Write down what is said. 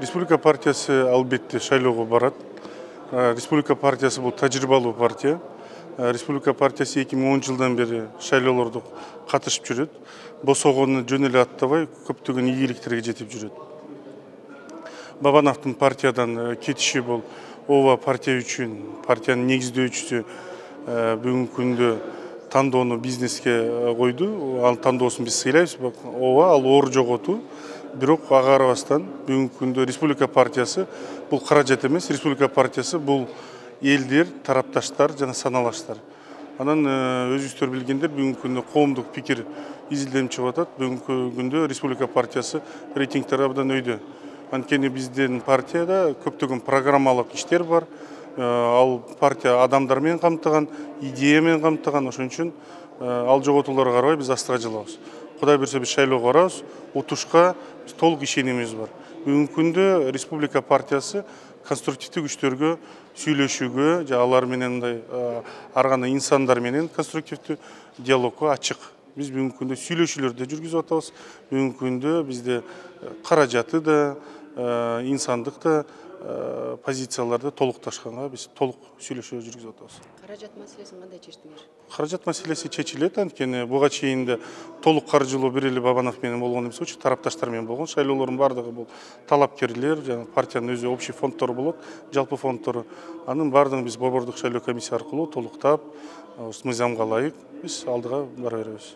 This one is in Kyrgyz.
Республика партиясы албетте шайлоого барат. Республика партиясы бул тажрыйбалуу партия. Республика партиясы 2010 жылдан бери шайлоолордо катышып жүрөт. Босогонду жөн эле аттабай көптөгөн ийгиликтерге жетип жүрөт. Бабановдун партиядан кетиши бул ооба партия үчүн, партиянын негиздөөчүсү бүгүнкү күндө тандоону бизнеске койду. Ал тандоосун биз сыйлайбыз. Ооба, ал оор жоготуу. Бирок ага карабастан бүгүнкү күндө Республика партиясы бул каражат эмес, Республика партиясы бул элдер, тарапташтар жана саналаштар. Анан өзүңүздөр билгендер, бүгүнкү күндө коомдук пикир изилденип чыгып атат. Бүгүнкү күндө Республика партиясы рейтингтер абдан өйдө. Анткени биздин партияда көптөгөн программалык иштер бар. Ал партия адамдар менен камтыган, идея менен камтыган. Ошон үчүн ал жоготууларга карабай биз астыга жылабыз. Кудай буйрса биз шайлоого барабыз. Утушка биз толук ишенимибиз бар. Бүгүнкү күндө Республика партиясы конструктивдүү күчтөргө сүйлөшүүгө, же алар менен мындай ар кандай инсандар менен конструктивдүү диалогго ачык. Биз бүгүнкү күндө сүйлөшүүлөрдү жүргүзүп атабыз. Бүгүнкү күндө бизде каражаты да, инсандык да позицияларды толукташканга биз толук сүйлөшүү жүргүзүп атабыз. Каражат маселесин кандай чечтиңер? Каражат маселеси чечилет, анткени буга чейин да толук каржылоо бир эле Бабанов менен болгон эмес болчу, тарапташтар менен болгон. Шайлоолордун баардыгы бул талапкерлер, жана партиянын өзү общий фондтору болот, жалпы фондтору. Анын баардыгын биз борбордук шайлоо комиссия аркылуу толуктап, мыйзамга ылайык биз алдыга бара беребиз.